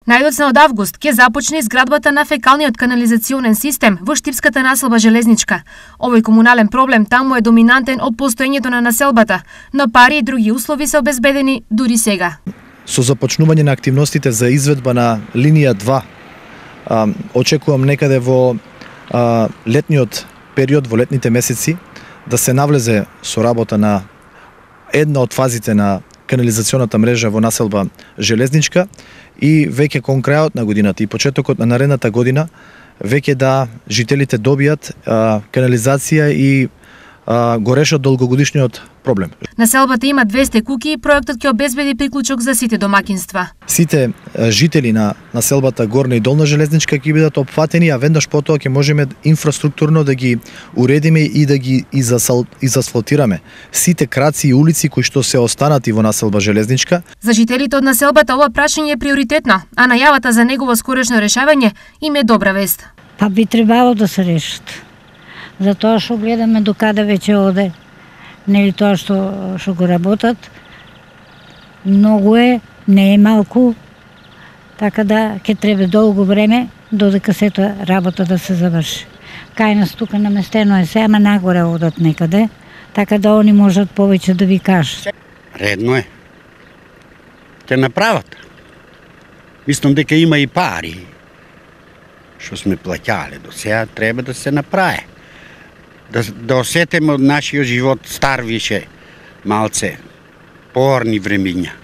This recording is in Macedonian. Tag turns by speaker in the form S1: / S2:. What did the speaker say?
S1: Најдоцна од август ќе започне изградбата на фекалниот канализационен систем во Штипската населба Железничка. Овој комунален проблем таму е доминантен од постоењето на населбата, но пари и други услови се обезбедени дури сега.
S2: Со започнување на активностите за изведба на линија 2, очекувам некаде во летниот период, во летните месеци, да се навлезе со работа на една од фазите на канализационата мрежа во населба Железничка и веќе кон крајот на годината и почетокот на наредната година веќе да жителите добијат канализација и го решат долгогодишниот проблем.
S1: Населбата има 200 куќи и проектот ќе обезбеди приклучок за сите домакинства. Сите
S2: жители на населбата Горна и Долна Железничка ќе бидат опфатени, а веднаш потоа ќе можеме инфраструктурно да ги уредиме и да ги изасфалтираме сите краци и улици кои што се останати во населба Железничка.
S1: За жителите од населбата ова прашање е приоритетно, а најавата за негово скорешно решавање им е добра вест.
S3: Па би требало да се решат. Затоа што гледаме до каде веќе оде, нели тоа што го работат, многу е, не е малку, така да ќе треба долго време додека сета работа да се заврши. Кај нас тука наместено е се, ама нагоре одат некаде, така да они можат повеќе да ви кажат.
S4: Редно е. Ќе направат. Мислам дека има и пари што сме плаќале до сега, треба да се направи. Да осетиме од нашиот живот стар више малце, поорни времиња.